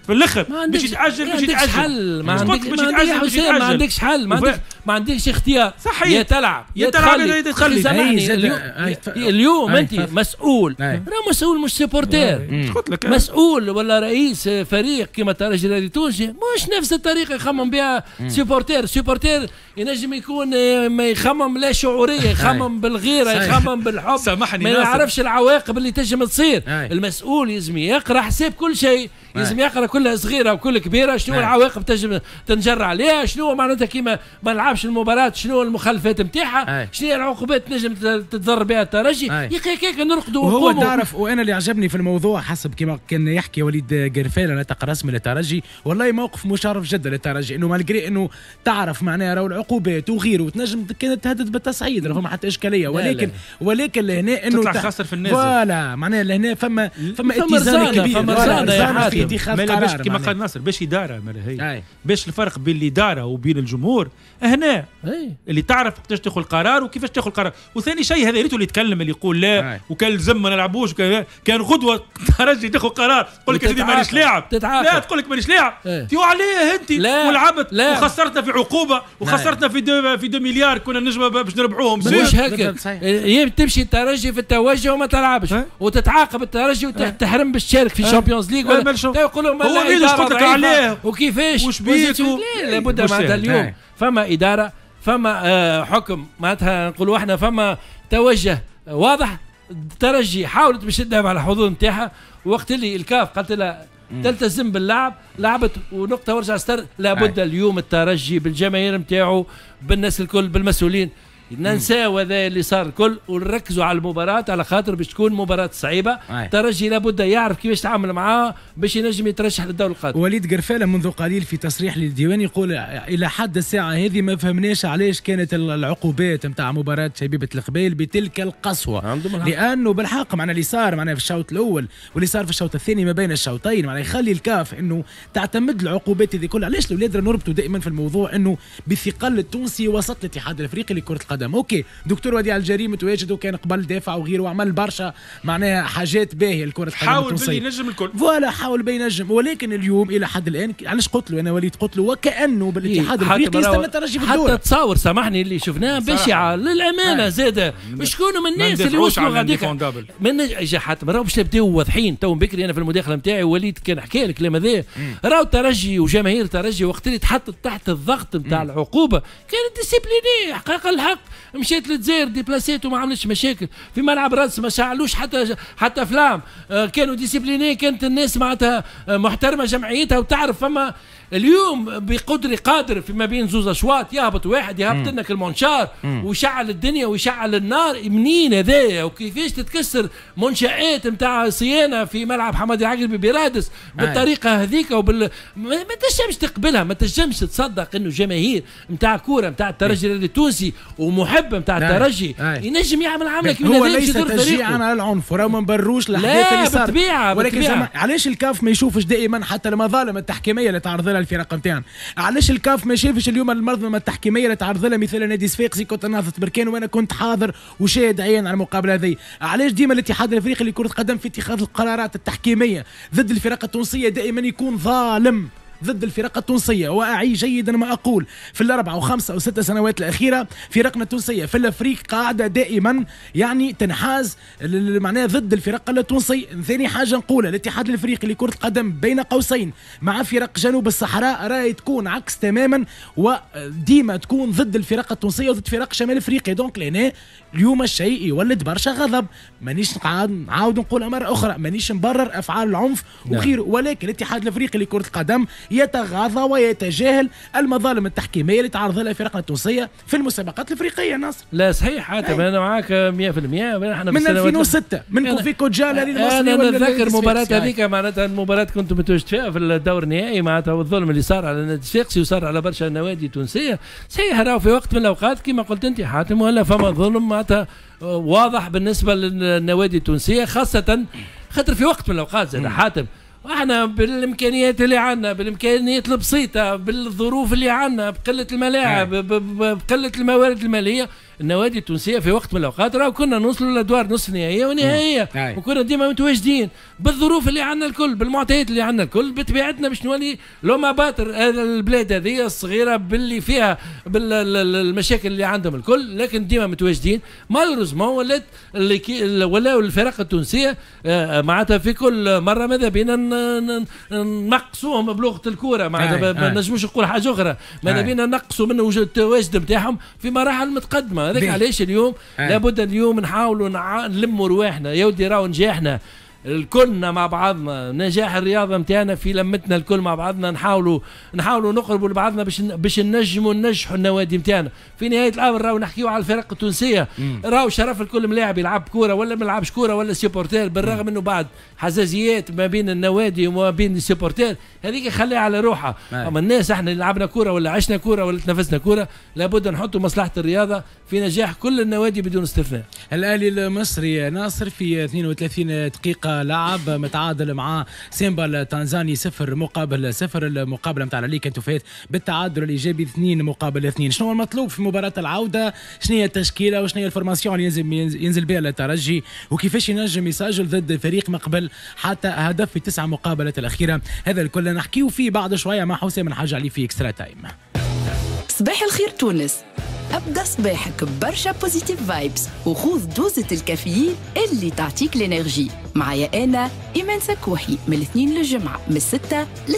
في الاخر باش يتاجل، باش يتاجل حل. ما عندكش ما عندكش حل، ما عندكش اختيار. صحيح، يا تلعب يا تخلي. سامحني اليوم انت مسؤول، راه مسؤول مش supporter، مسؤول ولا رئيس فريق كما الترجي الرياضي التونسي مش نفس الطريقة يخمم بها supporter. supporter ينجم يكون ما يخمم لا شعوريه، يخمم بالغيره، يخمم بالحب، سامحني ما يعرفش العواقب اللي تنجم تصير. المسؤول لازم يقرا حساب كل شيء، لازم يقرا كل صغيرة وكل كبيرة، شنو العواقب تنجم تنجر عليها، شنو معناتها كيما ما نلعبش المباراة، شنو المخالفات نتاعها، شنو هي العقوبات تنجم تتضر بها الترجي. يا اخي هكاك نرقدوا. وهو تعرف، وانا اللي عجبني في الموضوع حسب كما كان يحكي وليد قرفالة ناطق رسمي للترجي، والله موقف مشرف جدا للترجي، انه malgré انه تعرف معناها راهو العقوبات وغيره وتنجم كانت تهدد بالتصعيد، راه فما حتى اشكالية، ولكن لا لا. ولكن لهنا انه تطلع خاسر في النازل، voilà معناها لهنا فما اتزان كبير، فما في اتخاذ قرار كما قال ناصر باش ادارة هي باش الفرق بين الادارة وبين الجمهور هنا اللي تعرف وقتاش تاخذ القرار وكيفاش تاخذ القرار. وثاني شيء هذا ريتو اللي يتكلم اللي يقول لا وكان لزم ما نلعبوش، كان غدوه ترجي تاخذ قرار تقول لك يا سيدي مانيش لاعب، لا تقول لك مانيش لاعب، تي عليه انت ولعبت وخسرتنا في عقوبه وخسرتنا في 2 مليار كنا نجم باش نربحوهم. مش هكا تمشي الترجي في التوجه وما تلعبش وتتعاقب الترجي وتحرم باش تشارك في Champions League، يقولوا هو مين قلت لك عليه وكيفاش وش بيك. لابد معناتها اليوم فما ادارة، فما حكم، معناتها نقولوا احنا فما توجه واضح. الترجي حاولت باش تدافع على الحظوظ نتاعها، وقت اللي الكاف قالت لها تلتزم باللعب، لعبت ونقطة ورجع ستر. لابد اليوم الترجي بالجماهير نتاعو بالناس الكل بالمسؤولين ننساو هذا اللي صار الكل ونركزوا على المباراة، على خاطر باش تكون مباراة صعيبة. الترجي لابد يعرف كيفاش يتعامل معاه باش ينجم يترشح للدور القادم. وليد قرفالة منذ قليل في تصريح للديوان يقول إلى حد الساعة هذه ما فهمناش علاش كانت العقوبات نتاع مباراة شبيبة القبائل بتلك القسوة، لأنه بالحق معنا اللي صار معنا في الشوط الأول واللي صار في الشوط الثاني ما بين الشوطين معنا يخلي الكاف أنه تعتمد العقوبات هذه كلها. علاش الأولاد نربطوا دائما في الموضوع أنه بثقل التونسي وسط الاتحاد الأفريقي لكرة القدم. OK دكتور وديع الجري متواجد وكان قبل دافع وغيره وعمل برشا معناها حاجات باهيه لكرة القدم حاول بين ينجم الكل، voilà حاول بين ينجم، ولكن اليوم الى حد الان علاش قلت له انا وليد قلت له وكانه بالاتحاد الافريقي يستنى الترجي في الدور. حتى تصور سامحني اللي شفناه بشعة للامانة زاده شكون من الناس اللي وصلوا غاديك من اجا حاتم راهو باش نبداو واضحين. تو بكري انا في المداخلة نتاعي وليد كان حكى الكلام هذا، راهو الترجي وجماهير الترجي وقت اللي تحطت تحت الضغط نتاع العقوبة كانت disciplinée حقيقة الحق، مشيت للجزائر déplacé ت وما عملتش مشاكل في ملعب رادس، ما شعلوش حتى flamme، كانوا disciplinés، كانت الناس معناتها محترمه جمعيتها وتعرف. فما اليوم بقدر قادر في ما بين زوز اشواط يهبط واحد يهبط لنا المنشار ويشعل الدنيا ويشعل النار. منين هذايا وكيفاش تتكسر منشآت نتاع صيانة في ملعب حمادي العقربي برادس بالطريقة هذيك ما تنجمش تقبلها، ما تنجمش تصدق انه جماهير نتاع كورة نتاع الترجي التونسي ومحب نتاع الترجي ينجم يعمل عمله كيما هو ليس تشجيعا على العنف وراه ما نبروش الاحداث اللي صارت. بالطبيعة ولكن علاش الكاف ما يشوفش دائما حتى المظالم التحكيميه اللي تعرض لها الفرق نتاعنا؟ علاش الكاف ما شافش اليوم المنظمة التحكيميه اللي تعرض لها مثلا نادي صفاقسي كنت نهضة بركان وانا كنت حاضر وشاهد عيان على المقابلة هذه؟ علاش ديما الاتحاد الافريقي لكرة القدم في اتخاذ القرارات التحكيميه ضد الفرق التونسية دائما يكون ظالم ضد الفرق التونسية؟ وأعي جيدا ما أقول، في الأربع وخمسة أو ست سنوات الأخيرة فرقنا التونسية في الأفريق قاعدة دائما يعني تنحاز معناها ضد الفرق التونسية. ثاني حاجة نقولها، الاتحاد الأفريقي لكرة القدم بين قوسين مع فرق جنوب الصحراء راهي تكون عكس تماما، وديما تكون ضد الفرق التونسية وضد فرق شمال أفريقيا. donc لهنا اليوم الشيء يولد برشا غضب. مانيش نعاود نقولها مرة أخرى، مانيش نبرر أفعال العنف وغيره، ولكن الاتحاد الأفريقي لكرة القدم يتغاضى ويتجاهل المظالم التحكيميه اللي تعرض لها فرقنا التونسية في المسابقات الافريقية. ناصر لا صحيح حاتم، انا معاك 100%. احنا من 2006 من كوفي كوجالا للمصري، انا نتذكر المباراة هذيك معناتها المباراة كنت متواجد فيها في الدور النهائي معناتها، والظلم اللي صار على النادي الصفاقسي وصار على برشا نوادي تونسية. صحيح راهو في وقت من الاوقات كما قلت انت حاتم ولا فما ظلم معناتها واضح بالنسبة للنوادي التونسية، خاصة خاطر في وقت من الاوقات زاد حاتم احنا بالامكانيات اللي عندنا، بالامكانيات البسيطة، بالظروف اللي عندنا، بقلة الملاعب، بقلة الموارد المالية، النوادي التونسية في وقت من الاوقات راهو كنا نوصلوا لادوار نصف نهائية ونهائيه، وكنا ديما متواجدين بالظروف اللي عندنا الكل، بالمعطيات اللي عندنا الكل، بطبيعتنا باش نولي l'homme à battre هذا البلاد هذه الصغيرة باللي فيها بالمشاكل اللي عندهم الكل، لكن ديما متواجدين. malheureusement ولات ولاو الفرق التونسية معناتها في كل مرة ماذا بينا نقصوهم بلغه الكورة، معناتها ما نجموش نقول حاجة اخرى، ماذا بينا نقصوا من وجود التواجد نتاعهم في مراحل متقدمة. هذاك علاش اليوم لابد اليوم نحاولوا نلموا رواحنا يا ودي، راهو نجاحنا الكلنا مع بعضنا، نجاح الرياضة نتاعنا في لمتنا الكل مع بعضنا، نحاولوا نقربوا لبعضنا باش نجموا ننجحوا النوادي نتاعنا. في نهاية الامر راهو نحكيو على الفرق التونسية، راهو شرف الكل ملاعب يلعب كورة ولا ما يلعبش كورة ولا supporter، بالرغم انه بعد حزازيات ما بين النوادي وما بين ال supporters هذيك خليها على روحها. اما الناس احنا اللي لعبنا كورة ولا عشنا كورة ولا تنفسنا كورة، لابد نحطوا مصلحة الرياضة في نجاح كل النوادي بدون استثناء. الاهلي المصري ناصر في 32 دقيقة لعب متعادل مع سيمبا التنزاني 0-0. المقابلة نتاع l'aller كانت فات بالتعادل الايجابي 2-2. شنو المطلوب في مباراة العودة؟ شنو هي التشكيلة وشنو هي ال formation اللي ينزل بها الترجي، وكيفاش ينجم يسجل ضد فريق ما قبل حتى هدف في 9 مقابلات الاخيرة؟ هذا الكل نحكيو فيه بعد شوية مع حسام الحاج علي في Extra Time. صباح الخير تونس، ابدا صباحك برشا positive vibes وخذ دوزة الكافيين اللي تعطيك l'énergie. معايا انا ايمان سكوحي من الاثنين للجمعة من 6